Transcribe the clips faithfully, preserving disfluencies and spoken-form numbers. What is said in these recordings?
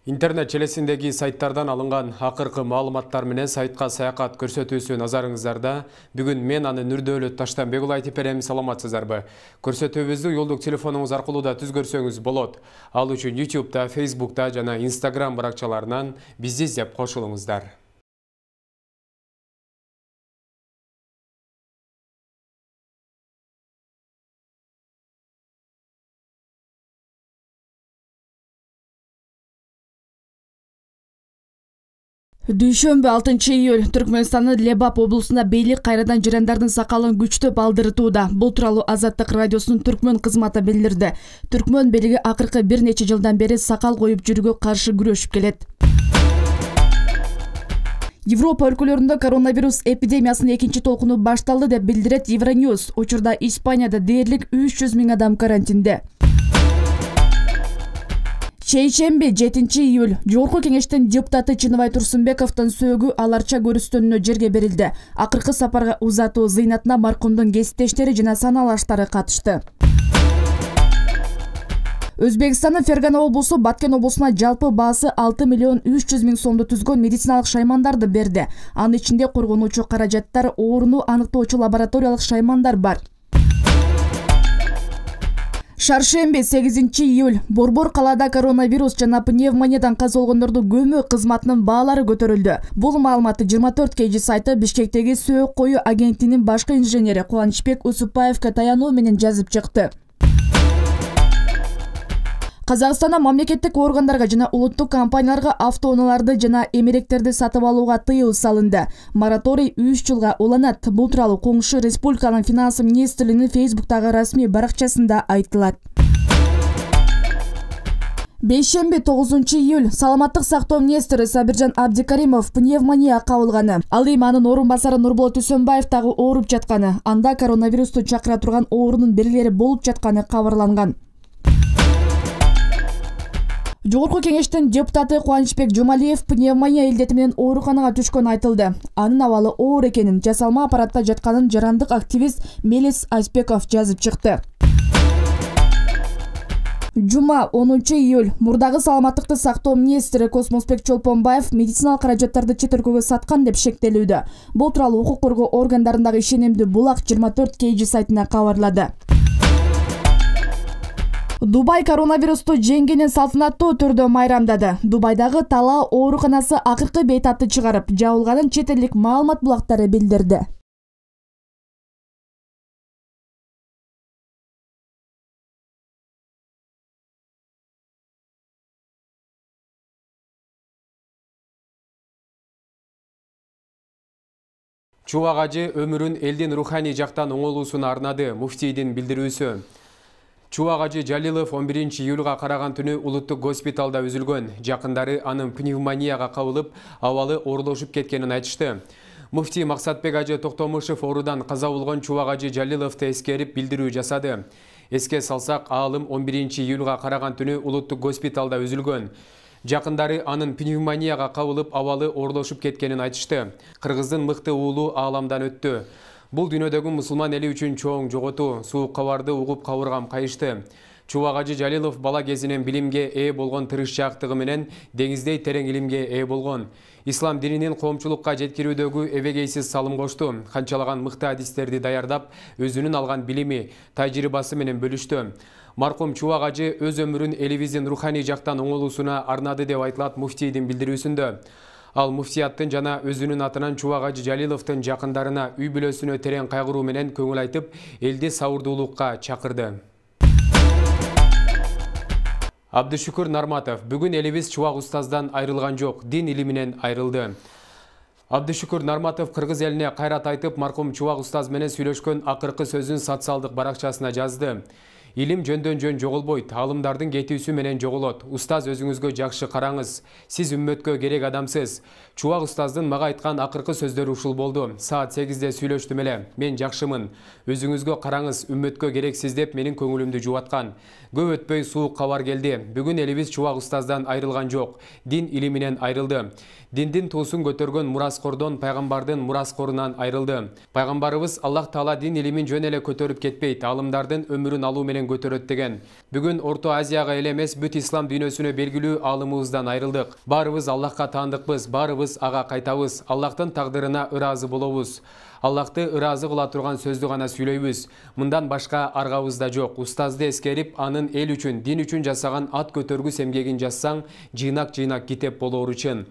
Интернет желесиндеги сайттардан алынган акыркы маалыматтар менен сайтка саякат көрсөтүүсү назарыңыздарда. Бүгүн мен аны Нурдөөлөт Таштанбек уулу айтып берем. Саламатсыздарбы? Көрсөтүүбүздү жолдук телефонуңуз аркылуу да түз көрсөңүз болот. Ал үчүн YouTube'да, Facebook'та жана Instagram баракчаларынан бизди издеп кошулуңуздар. Дүйшөмбү алтынчы июль Түркмөнстандын Лебап облусунда бийлик кайрадан жарандардын сакалын күчтөп алдыртууда. Бул тууралуу Азаттык радиосунун түркмөн кызматы билдирди. Түркмөн бийлиги акыркы бир нече жылдан бери сакал коюп жүрүүгө каршы күрөшүп келет. Европа өлкөлөрүндө коронавирус эпидемиясынын экинчи толкуну башталды деп билдирет Евроньюз. Учурда Испанияда дээрлик үч жүз миң адам карантинде. Чейшемби жетинчи июль Жогорку кеңештин депутаты Чыныбай Турсунбековдун сөөгү аларча көрүстөнүнө жерге берилди. Акыркы сапарга узатуу зыйнатына маркумдун кесиптештери жана саналаштары катышты. Өзбекстандын Фергана облусу Баткен облусуна жалпы баасы алты миллион үч жүз миң сомду түзгөн медициналык шаймандарды берди. Анын ичинде коргонуучу каражаттар, ооруну аныктоочу лабораториялык шаймандар бар. Шаршемби сегизинчи июль Борбор калаада коронавирус жана пневмониядан каза болгондорду көмүү кызматынын баалары көтөрүлдү. Бул маалыматты жыйырма төрт кж сайты Бишкектеги сөөк коюу агенттигинин башкы инженери Кубанычбек Усупаевга таянуу менен жазып чыкты. Казакстанда мамлекеттик органдарга жана улуттук компанияларга автоунааларды жана эмеректерди сатып алууга тыюу салынды. Мораторий үч жылга уланат. Бул тууралуу коңшу республиканын финансы министрлигинин Facebook'тагы расмий баракчасында айтылат. Бейшемби тогузунчу июль Саламаттык сактоо министри Сабиржан Абдикаримов пневмония кабылганы. Ал эми анын орун басары Нурболот Үсөнбаев дагы ооруп жатканы. Анда коронавирусту чакыра турган оорунун белгилери болуп жатканы кабарланган. Жогорку кеңештин депутаты Кубанычбек Жумалиев пневмония илдети менен ооруканага түшкөнү айтылды. Анын абалы оор экенин, жасалма аппаратта жатканын жарандык активист Мелис Айспеков жазып чыкты. Жума онунчу июль мурдагы саламаттыкты сактоо министри Космосбек Чолпонбаев медициналык каражаттарды чет өлкөгө саткан деп шектелүүдө. Бул тууралуу укук коргоо органдарындагы ишенимдүү булак жыйырма төрт кж сайтына кабарлады. Дубай коронавирусту жеңгенин салтанаттуу түрдө майрамдады. Дубайдагы Талаа ооруканасы акыркы бейтапты чыгарып, жабылганын чет элдик маалымат булактары билдирди. Чубак ажы өмүрүн элдин руханий жактан оңолуусуна арнады. Муфтийдин билдирүүсү. Чубак ажы Жалилов он биринчи июлга караган түнү улуттук госпиталда үзүлгөн. Жакындары анын пневмонияга кабылып, абалы оорлошуп кеткенин айтышты. Муфтий Максатбек ажы Токтомушев оорудан каза болгон Чубак ажы Жалиловду эскерип билдирүү жасады. Эске салсак, аалым он биринчи июлга караган түнү улуттук госпиталда үзүлгөн. Жакындары анын пневмонияга кабылып, абалы оорлошуп кеткенин айтышты. Кыргыздын мыкты уулу ааламдан өттү. Бул дүйнөдөгү мусулман эли үчүн чоң жоготуу, суук кабарды угуп кабыргам кайышты. Чубак ажы Жалилов бала кезинен билимге ээ болгон тырышчаактыгы менен деңиздей терең илимге ээ болгон. Ислам дининин коомчулукка жеткирүүдөгү эбегейсиз салым кошту. Канчалаган мыкты адистерди даярдап, өзүнүн алган билими, тажрыйбасы менен бөлүштү. Маркум Чубак ажы өз өмүрүн элибиздин руханий жактан оңолуусуна арнады деп айтылат муфтийдин билдирүүсүндө. Ал муфтияттын жана өзүнүн атынан Чубак ажы Жалиловдун жакындарына үй бүлөсүнө терең кайгыруу менен көңүл айтып, элди сабырдуулукка чакырды. Абдышүкүр Нарматов бүгүн элибиз Чубак устаздан айрылган жок, дин илиминен айрылды. Абдышүкүр Нарматов кыргыз элине кайрат айтып, маркум Чубак устаз менен сүйлөшкөн акыркы сөзүн социалдык баракчасына жазды. Илим жөндөн жөн жоголбойт, алымдардын кетүүсү менен жоголот. Устаз өзүңүзгө жакшы караңыз. Сиз үммөткө керек адамсыз. Чубак устаздын мага айткан акыркы сөздөрү ушул болду. Саат сегизде сүйлөштүм эле. Мен жакшымын. Өзүңүзгө караңыз, үммөткө керексиз деп менин көңүлүмдү жубаткан. Көп өтпөй суук кабар келди. Бүгүн элибиз Чубак устаздан айрылган жок. Дин илиминен айрылды. Диндин туусун көтөргөн мураскордон, пайгамбардын мураскорунан айрылды. Пайгамбарыбыз Аллах Таала дин илимин жөн эле көтөрүп кетпейт. Алымдардын өмүрүн алуу менен менен көтөрөт деген. Бүгүн Орто Азияга эле эмес, бүт ислам дүйнөсүнө белгилүү аалымыбыздан айрылдык. Баарыбыз Аллахка таандыкпыз, баарыбыз ага кайтабыз. Аллахтын тагдырына ыраазы болобуз. Аллахты ыраазы кыла турган сөздү гана сүйлөйбүз. Мындан башка аргабыз да жок. Устазды эскерип, анын эл үчүн, дин үчүн жасаган ат көтөргүс эмгегин жазсаң, жыйнак-жыйнак китеп болору үчүн.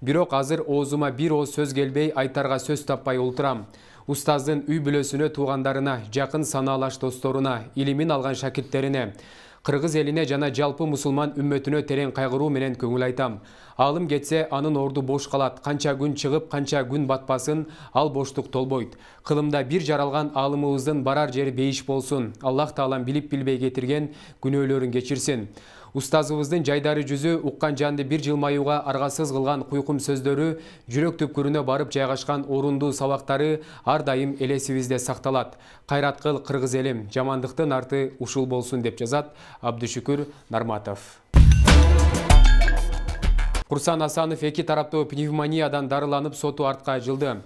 Бирок азыр оозума бир ооз сөз келбей, айтарга сөз таппай олтурам. Устаздын үй бүлөсүнө, туугандарына, жакын санаалаш досторуна, илимин алган шакирттерине, кыргыз элине жана жалпы мусулман үммөтүнө терең кайгыруу менен көңүл айтам. Алым кетсе, анын орду бош калат. Канча күн чыгып, канча күн батпасын, ал боштук толбойт. Кылымда бир жаралган алымыбыздын барар жери бейиш болсун. Аллах таалам билип билбей кетирген күнөөлөрүн кечирсин. Устазыбыздын жайдары жүзү, уккан жанды бир жылмаюуга аргасыз кылган куйкум сөздөрү, жүрөк түпкүрүнө барып жайгашкан орундуу сабактары ар дайым элесибизде сакталат. Кайрат кыл, кыргыз элим, жамандыктын арты ушул болсун, деп жазат Абдышүкүр Нарматов. Курсан Асанов эки тараптуу пневмониядан дарыланып, соту артка жылды.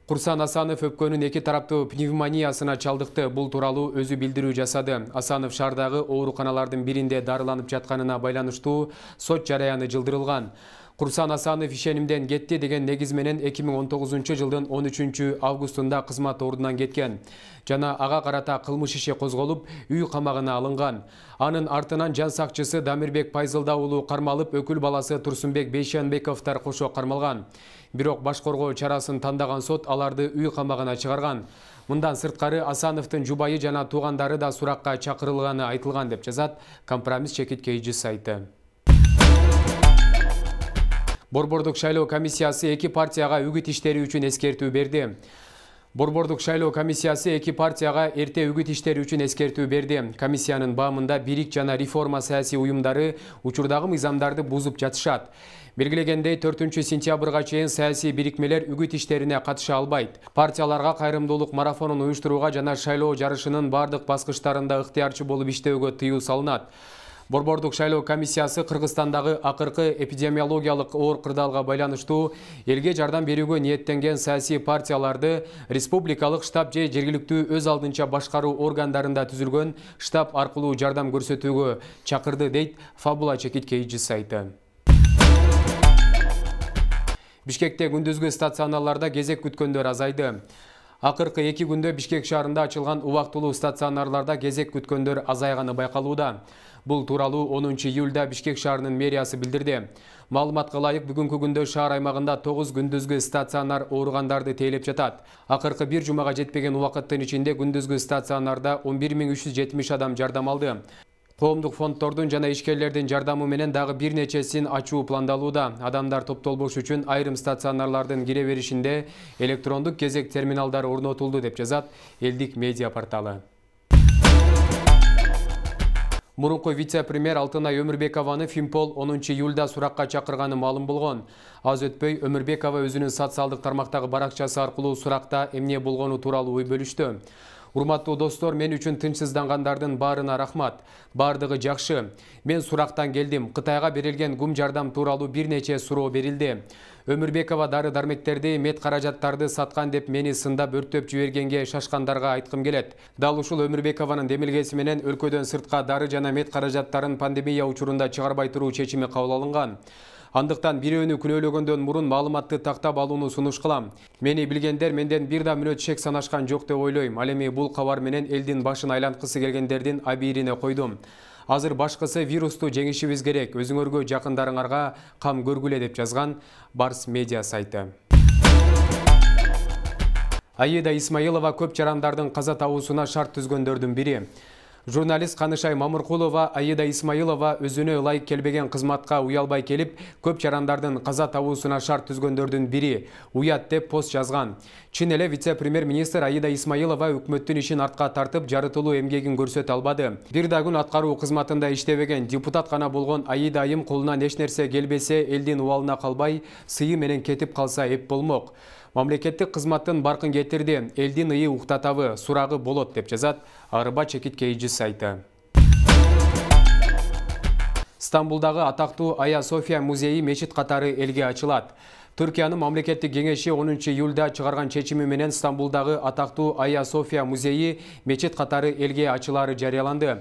Курсан Асанов өпкөнүн эки тараптуу пневмониясына чалдыкты. Бул тууралуу өзү билдирүү жасады. Асанов шаардагы ооруканалардын биринде дарыланып жатканына байланыштуу сот жараяны жылдырылган. Курсан Асанов ишенимден кетти деген негиз менен эки миң он тогузунчу жылдын он үчүнчү августунда кызмат ордунан кеткен жана ага карата кылмыш иши козголуп, үй камагына алынган. Анын артынан жан сакчысы Дамирбек Пайзылда уулу кармалып, өкүл баласы Турсунбек Бейшенбековдор кошо кармалган. Бирок баш коргоо чарасын тандаган сот аларды үй камагына чыгарган. Мындан сырткары Асановдун жубайы жана туугандары да суракка чакырылганы айтылган, деп жазат Компромисс чекит кейжи сайты. Борбордук шайлоо комиссиясы эки партияга үгүт иштери үчүн эскертүү берди. Борбордук шайлоо комиссиясы эки партияга эрте үгүт иштери үчүн эскертүү берди. Комиссиянын баамында Бирик жана Реформа саясий уюмдары учурдагы мыйзамдарды бузуп жатышат. Белгилегендей, төртүнчү сентябрга чейин саясий бирикмелер үгүт иштерине катыша албайт. Партияларга кайрымдуулук марафонун уюштурууга жана шайлоо жарышынын бардык баскычтарында ыктыярчы болуп иштөөгө тыюу салынат. Борбордук шайлоо комиссиясы Кыргызстандагы акыркы эпидемиологиялык оор кырдаалга байланыштуу элге жардам берүүгө ниеттенген саясий партияларды республикалык штаб же жергиликтүү өз алдынча башкаруу органдарында түзүлгөн штаб аркылуу жардам көрсөтүүгө чакырды, дейт Фабула чекит кейжи сайты. Бишкекте күндүзгү стационарларда кезек күткөндөр азайды. Акыркы эки күндө Бишкек шаарында ачылган убактылуу стационарларда кезек күткөндөр азайганы байкалууда. Бул тууралуу онунчу июлда Бишкек шаарынын мэриясы билдирди. Маалыматка ылайык, бүгүнкү күндө шаар аймагында тогуз күндүзгү стационар ооругандарды тейлеп жатат. Акыркы бир жумага жетпеген убакыттын ичинде күндүзгү стационарда он бир миң үч жүз жетимиш адам жардам алды. Коомдук фонддордун жана ишкерлердин жардамы менен дагы бир нечесин ачуу пландалууда. Адамдар топтолбош үчүн айрым стационарлардын кире беришинде электрондук кезек терминалдары орнотулду, деп жазат Элдик медиа порталы. Мурунку вице-премьер Алтынай Өмүрбекованы Финпол онунчу июлда суракка чакырганы маалым болгон. Аз өтпөй Өмүрбекова өзүнүн социалдык тармактагы баракчасы аркылуу суракта эмне болгону тууралуу ой бөлүштү. Урматтуу достор, мен үчүн тынчсыздангандардын баарына рахмат. Бардыгы жакшы. Мен сурактан келдим. Кытайга берилген гум жардам тууралуу бир нече суроо берилди. Өмүрбекова дары-дармектерди, мед каражаттарды саткан деп мени сындап өрттөп жибергенге шашкандарга айткым келет. Дал ушул Өмүрбекованын демилгеси менен өлкөдөн сыртка дары жана мед каражаттарын пандемия учурунда чыгарбай туруу чечими кабыл алынган. Андыктан бирөөнү күнөөлөгөндөн мурун маалыматты тактап алууну сунуш кылам. Мени билгендер менден бир да мүнөт шек санашкан жок деп ойлойм. Ал эми бул кабар менен элдин башын айланткысы келгендердин абийирине койдум. Азыр башкысы вирусту жеңишибиз керек. Өзүңөргө, жакындарыңарга кам көргүлө, деп жазган Барс медиа сайты. Аида Исмаилова көп жарандардын каза табуусуна шарт түзгөндөрдүн бири. Журналист Канышай Мамыркулова Аида Исмаилова өзүнө ылайык келбеген кызматка уялбай келип, көп жарандардын каза табуусуна шарт түзгөндөрдүн бири. Уят деп пост жазган. Чын эле вице-премьер-министр Аида Исмаилова өкмөттүн ишин артка тартып, жарытылуу эмгегин көрсөтө албады. Бир да күн аткаруу кызматында иштебеген депутат гана болгон Аида айым колунан эч нерсе келбесе, элдин убалына калбай, сыйы менен кетип калса эп болмок. Мамлекеттик кызматтын баркын кетирди, элдин ыйы уктатабы, сурагы болот, деп жазат Арба чекит кейжи сайты. Стамбулдагы атактуу Ая София музейи мечит катары элге ачылат. Түркиянын мамлекеттик кеңеши онунчу июлда чыгарган чечими менен Стамбулдагы атактуу Айя София музейи мечит катары элге ачылары жарыяланды.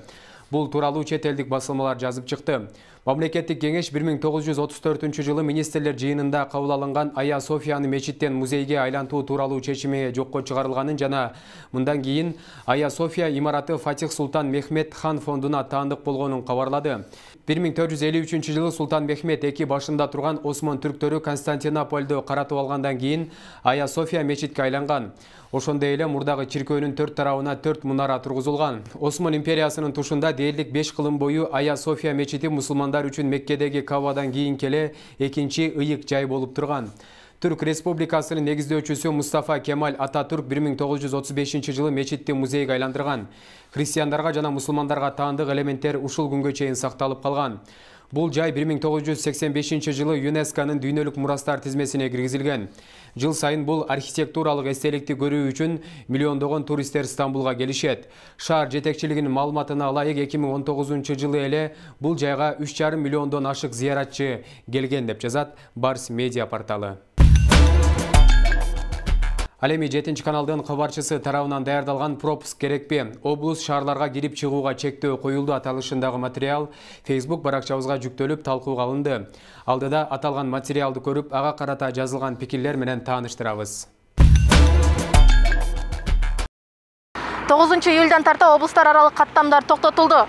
Бул тууралуу чет элдик басылмалар жазып чыкты. Мамлекеттик кеңеш бир миң тогуз жүз отуз төртүнчү жылы министрлер жыйынында кабыл алынган Айя Софияны мечиттен музейге айлантуу тууралуу чечими жокко чыгарылганын жана мындан кийин Айя София имараты Фатих Султан Мехмет хан фондуна таандык болгонун кабарлады. бир миң төрт жүз элүү үчүнчү жылы Султан Мехмет эки башында турган Осман түрктөрү Константинопольду каратып алгандан кийин Айя София мечитке айланган. Ошондой эле мурдагы чиркөөнүн төрт тарабына төрт мунара тургузулган. Осман империясынын тушунда дээрлик беш кылым бою Айя София мечити мусулмандар үчүн Меккедеги Кабадан кийин эле экинчи ыйык жай болуп турган. Түрк Республикасынын негиздөөчүсү Мустафа Кемаль Ататүрк бир миң тогуз жүз отуз бешинчи жылы мечитти музейге айландырган. Христиандарга жана мусулмандарга таандык элементтер ушул күнгө чейин сакталып калган. Бул жай бир миң тогуз жүз сексен бешинчи жылы ЮНЕСКОнун дүйнөлүк мурастар тизмесине киргизилген. Жыл сайын бул архитектуралык эстеликти көрүү үчүн миллиондогон туристтер Стамбулга келишет. Шаар жетекчилигинин маалыматына ылайык эки миң он тогузунчу жылы эле бул жайга үч жарым миллиондон ашык зыяратчы келген деп жазат Барс медиа порталы. Ал эми жетинчи каналдын кабарчысы тарабынан даярдалган пропуск керекпи? Облус шаарларга кирип чыгууга чектөө коюлду аталышындагы материал Facebook баракчабызга жүктөлүп талкууга алынды. Алдыда аталган материалды көрүп, ага карата жазылган пикирлер менен тааныштырабыз. тогузунчу июлдан тарта облустар аралык каттамдар токтотулду.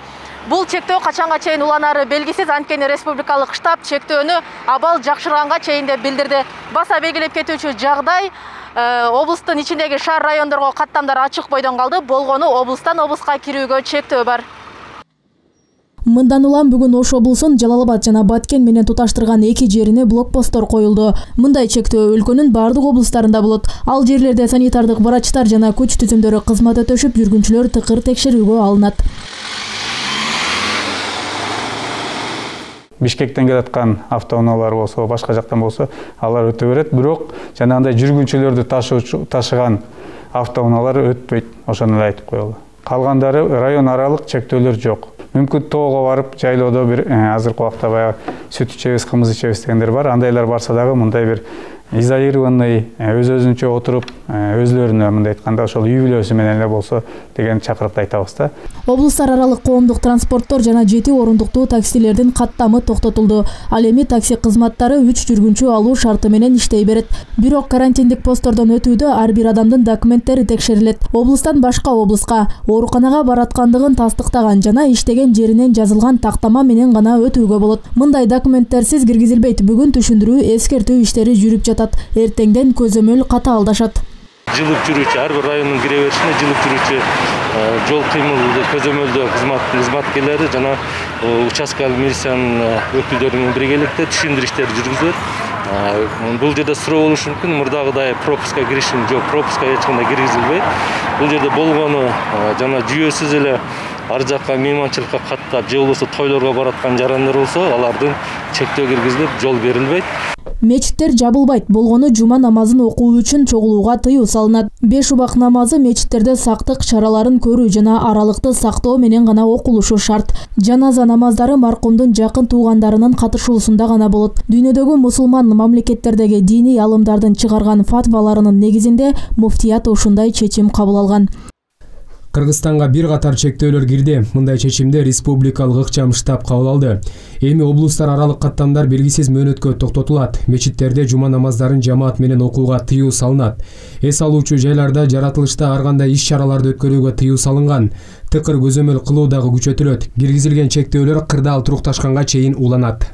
Бул чектөө качанга чейин уланары белгисиз, анткени республикалык штаб чектөөнү абал жакшырганга чейин деп билдирди. Баса белгилеп кетүүчү жагдай облустун ичиндеги шаар райондорго каттамдар ачык бойдон калды. Болгону облустан облуска кирүүгө чектөө бар. Мындан улам бүгүн Ош облусун Жалал-Абад жана Баткен менен туташтырган эки жерине блокпосттор коюлду. Мындай чектөө өлкөнүн бардык облустарында болот. Ал жерлерде санитардык врачтар жана күч түзүмдөрү кызмат өтөшүп, жүргүнчүлөр тыкыр текшерүүгө алынат. Бишкектен келаткан автоунаалар болсо, башка жактан болсо, алар өтө берет. Бирок жанагындай жүргүнчүлөрдү ташыган автоунаалар өтпөйт. Ошону эле айтып коелу. Калгандары район аралык чектөөлөр жок. Мүмкүн тоого барып, жайлоодо бир азыркы убакта баягы сүт ичебиз, кымыз ичебиз дегендер бар. Андайлар барса дагы мындай бир изолированный, өз-өзүнчө отуруп, өзлөрүнө мындай айтканда ошол үй бүлөсү менен эле болсо деген чакырыкты айтабыз да. Облустар аралык коомдук транспорттор жана жети орундуктуу таксилердин каттамы токтотулду. Ал эми такси кызматтары үч жүргүнчү алуу шарты менен иштей берет. Бирок карантиндик посттордон өтүүдө ар бир адамдын документтери текшерилет. Облустан башка облуска ооруканага бараткандыгын тастыктаган жана иштеген жеринен жазылган тактама менен гана өтүүгө болот. Мындай документтерсиз киргизилбейт. Бүгүн түшүндүрүү, эскертүү иштери жүрүп жатат. Эртеңден көзөмөл катаалдашат. Жылып жүрүүчү ар бир райондун кире беришине жылып жүрүүчү жол кыймыл көзөмөлдөө кызматкерлери жана участкалык милициянын өкүлдөрү менен биргеликте түшүндүрүү иштери жүргүзүлөт. Бул жерде суроо болушу мүмкүн, мурдагыдай пропуска киришим жок, пропуска эч кандай киргизилбейт. Бул жерде болгону жана жүйөсүз эле ар жакка мейманчылыкка каттап, же болбосо тойлорго бараткан жарандар болсо, алардын чектөө киргизилип, жол берилбейт. Мечиттер жабылбайт. Болгону жума намазын окуу үчүн чогулууга тыюу салынат. Беш убак намазы мечиттерде сактык чараларын көрүү жана аралыкты сактоо менен гана окулушу шарт. Жаназа намаздары маркумдун жакын туугандарынын катышуусунда гана болот. Дүйнөдөгү мусулман мамлекеттердеги диний алымдардын чыгарган фатваларынын негизинде муфтият ушундай чечим кабыл алган. Кыргызстанга бир катар чектөөлөр кирди. Мындай чечимди республикалык ыкчам штаб кабыл алды. Эми облустар аралык каттамдар белгисиз мөөнөткө токтотулат. Мечиттерде жума намаздарын жамаат менен окууга тыюу салынат. Эс алуучу жайларда жаратылышта ар кандай иш-чараларды өткөрүүгө тыюу салынган. Тыкыр көзөмөл кылуу дагы күчөтүлөт. Киргизилген чектөөлөр кырдаал турукташканга чейин уланат.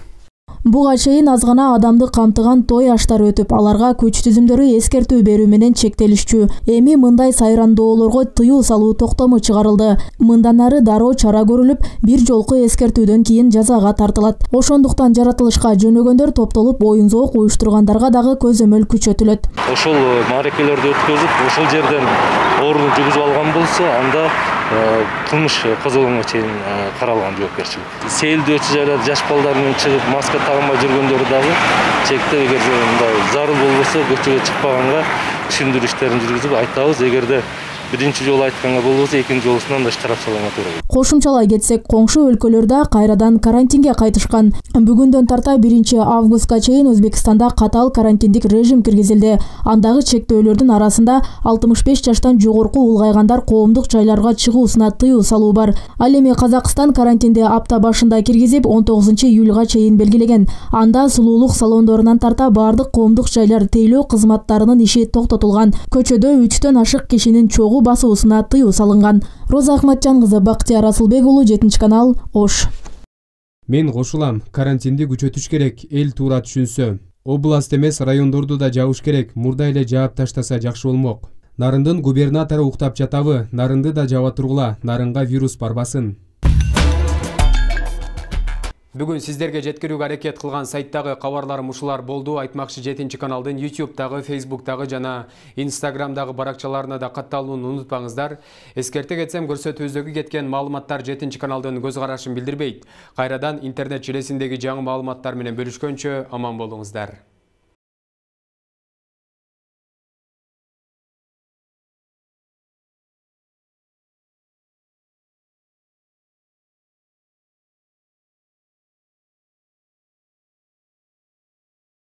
Буга чейин аз гана адамды камтыган той аштар өтүп, аларга күч түзүмдөрү эскертүү берүү менен чектелишчү. Эми мындай сайрандоолорго тыюу салуу токтому чыгарылды. Мындан ары дароо чара көрүлүп, бир жолку эскертүүдөн кийин жазага тартылат. Ошондуктан жаратылышка жөнөгөндөр топтолуп, оюн зоок уюштургандарга дагы көзөмөл күчөтүлөт. Ошол маарекелерди өткөзүп, ошол жерден оорун жүгүзүп алган болсо, анда кылмыш козголгонго чейин каралган жоопкерчилик. Сейилдөөчү жайларда жаш балдар менен чыгып, маска тагынбай жүргөндөр дагы чектеп, эгер мындай зарыл болбосо көчөгө чыкпаганга түшүндүрүү иштерин жүргүзүп айтабыз. Эгерде биринчи жолу айтканга болбосо экинчи жолусунан да штраф салганга туура келет. Кошумчалай кетсек, коңшу өлкөлөрдө кайрадан карантинге кайтышкан. Бүгүндөн тарта биринчи августка чейин Өзбекстанда катаал карантиндик режим киргизилди. Андагы чектөөлөрдүн арасында алтымыш беш жаштан жогорку улгайгандар коомдук жайларга чыгуусуна тыюу салуу бар. Ал эми Казакстан карантинди апта башында киргизип, он тогузунчу июлга чейин белгилеген. Анда сулуулук салондорунан тарта бардык коомдук жайлар тейлөө кызматтарынын иши токтотулган. Көчөдө үчтөн ашык кишинин чогуу басуусуна тыюу салынган. Роза Ахматжан кызы, Бактияр Асылбек уулу, жетинчи канал, Ош. Мен кошулам, карантинди күчөтүш керек, эл туура түшүнсө. Област эмес, райондорду да жабыш керек, мурда эле жаап таштаса жакшы болмок. Нарындын губернатору уктап жатабы, нарынды да жаба тургула, нарынга вирус барбасын. Бүгүн сиздерге жеткирүүгө аракет кылган сайттагы кабарларым ушулар болду. Айтмакчы, жетинчи каналдын ютубтагы, фейсбуктагы жана инстаграмдагы баракчаларына да катталууну унутпаңыздар. Эскерте кетсем, көрсөтүүбүздөгү кеткен маалыматтар жетинчи каналдын көз карашын билдирбейт. Кайрадан интернет желесиндеги жаңы маалыматтар менен бөлүшкөнчө аман болуңуздар.